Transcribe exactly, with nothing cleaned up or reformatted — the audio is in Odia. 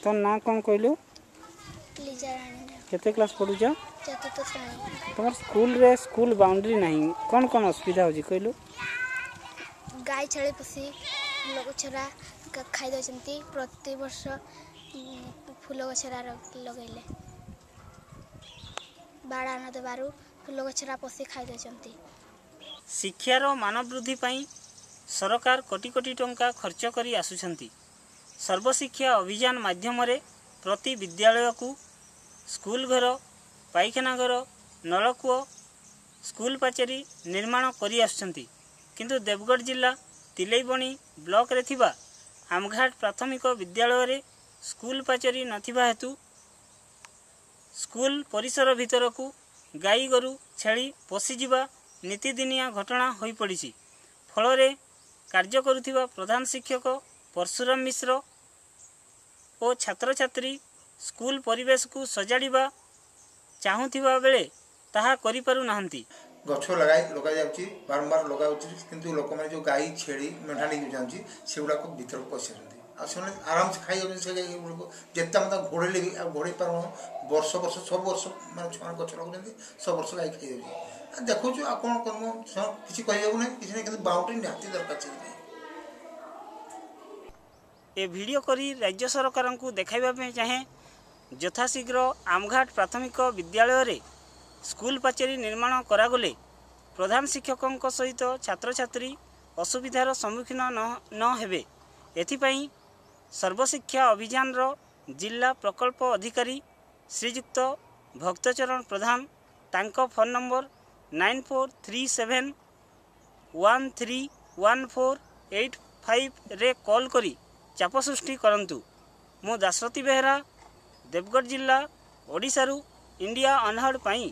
ତୋ ନାଁ କ'ଣ କହିଲୁ? ଲିଜା ରାଣୀ। କେତେ କ୍ଲାସ୍ ପଢ଼ୁଛ? ଚତୁର୍ଥ ଶ୍ରେଣୀ। ତୁମର ସ୍କୁଲରେ ସ୍କୁଲ ବାଉଣ୍ଡ୍ରି ନାହିଁ, କ'ଣ କ'ଣ ଅସୁବିଧା ହେଉଛି କହିଲୁ? ଗାଈ ଛେଳି ପଶି ଫୁଲ ଗଛରା ଖାଇ ଦେଉଛନ୍ତି। ପ୍ରତିବର୍ଷ ଫୁଲ ଗଛରା ଲଗେଇଲେ ବାଡ଼ା ନ ଦେବାରୁ ଫୁଲ ଗଛରା ପଶି ଖାଇ ଦେଉଛନ୍ତି। ଶିକ୍ଷାର ମାନ ବୃଦ୍ଧି ପାଇଁ ସରକାର କୋଟି କୋଟି ଟଙ୍କା ଖର୍ଚ୍ଚ କରି ଆସୁଛନ୍ତି। ସର୍ବଶିକ୍ଷା ଅଭିଯାନ ମାଧ୍ୟମରେ ପ୍ରତି ବିଦ୍ୟାଳୟକୁ ସ୍କୁଲ ଘର, ପାଇଖାନା ଘର, ନଳକୂଅ, ସ୍କୁଲ ପାଚେରୀ ନିର୍ମାଣ କରି ଆସୁଛନ୍ତି। କିନ୍ତୁ ଦେବଗଡ଼ ଜିଲ୍ଲା ତିଲେଇବଣି ବ୍ଲକରେ ଥିବା ଆମଘାଟ ପ୍ରାଥମିକ ବିଦ୍ୟାଳୟରେ ସ୍କୁଲ ପାଚେରୀ ନଥିବା ହେତୁ ସ୍କୁଲ ପରିସର ଭିତରକୁ ଗାଈ ଗୋରୁ ଛେଳି ପଶିଯିବା ନିତିଦିନିଆ ଘଟଣା ହୋଇପଡ଼ିଛି। ଫଳରେ କାର୍ଯ୍ୟ କରୁଥିବା ପ୍ରଧାନ ଶିକ୍ଷକ ପରଶୁରାମ ମିଶ୍ର ଓ ଛାତ୍ରଛାତ୍ରୀ ସ୍କୁଲ ପରିବେଶକୁ ସଜାଡ଼ିବା ଚାହୁଁଥିବା ବେଳେ ତାହା କରିପାରୁନାହାନ୍ତି। ଗଛ ଲଗାଇ ଲଗାଯାଉଛି, ବାରମ୍ବାର ଲଗାଯାଉଛି, କିନ୍ତୁ ଲୋକମାନେ ଯେଉଁ ଗାଈ ଛେଳି ମେଣ୍ଢା ନେଇକି ଯାଉଛି ସେଗୁଡ଼ାକ ଭିତରକୁ ପଶି ଆସୁଛନ୍ତି ଆଉ ସେମାନେ ଆରାମସେ ଖାଇଯାଉଛନ୍ତି। ସେ ଗୁଡ଼ିକୁ ଯେତେ ଆମେ ତାକୁ ଘୋଡ଼େଇଲେ ବି ଆଉ ଘୋଡ଼େଇ ପାରୁନୁ। ବର୍ଷ ବର୍ଷ ସବୁ ବର୍ଷ ମାନେ ଛୁଆମାନେ ଗଛ ଲଗାଉଛନ୍ତି, ସବୁ ବର୍ଷ ଗାଈ ଖାଇଯାଉଛି। ଆଉ ଦେଖୁଛୁ ଆଉ କ'ଣ କରିବୁ, କିଛି କହିବାକୁ ନାହିଁ, କିଛି ନାହିଁ, କିନ୍ତୁ ବାଉଣ୍ଡ୍ରି ନିହାତି ଦରକାର ସେଥିପାଇଁ। ଏ ଭିଡ଼ିଓ କରି ରାଜ୍ୟ ସରକାରଙ୍କୁ ଦେଖାଇବା ପାଇଁ ଚାହେଁ, ଯଥାଶୀଘ୍ର ଆମଘାଟ ପ୍ରାଥମିକ ବିଦ୍ୟାଳୟରେ ସ୍କୁଲ ପାଚେରୀ ନିର୍ମାଣ କରାଗଲେ ପ୍ରଧାନ ଶିକ୍ଷକଙ୍କ ସହିତ ଛାତ୍ରଛାତ୍ରୀ ଅସୁବିଧାର ସମ୍ମୁଖୀନ ନ ହେବେ। ଏଥିପାଇଁ ସର୍ବଶିକ୍ଷା ଅଭିଯାନର ଜିଲ୍ଲା ପ୍ରକଳ୍ପ ଅଧିକାରୀ ଶ୍ରୀଯୁକ୍ତ ଭକ୍ତଚରଣ ପ୍ରଧାନ, ତାଙ୍କ phone number nine four three seven one three one four eight ଫାଇଭରେ call କରି ଚାପ ସୃଷ୍ଟି କରନ୍ତୁ। ମୁଁ ଦାଶରଥୀ ବେହେରା, ଦେବଗଡ଼ ଜିଲ୍ଲା, ଓଡ଼ିଶାରୁ ଇଣ୍ଡିଆ ଅନହର୍ଡ଼ ପାଇଁ।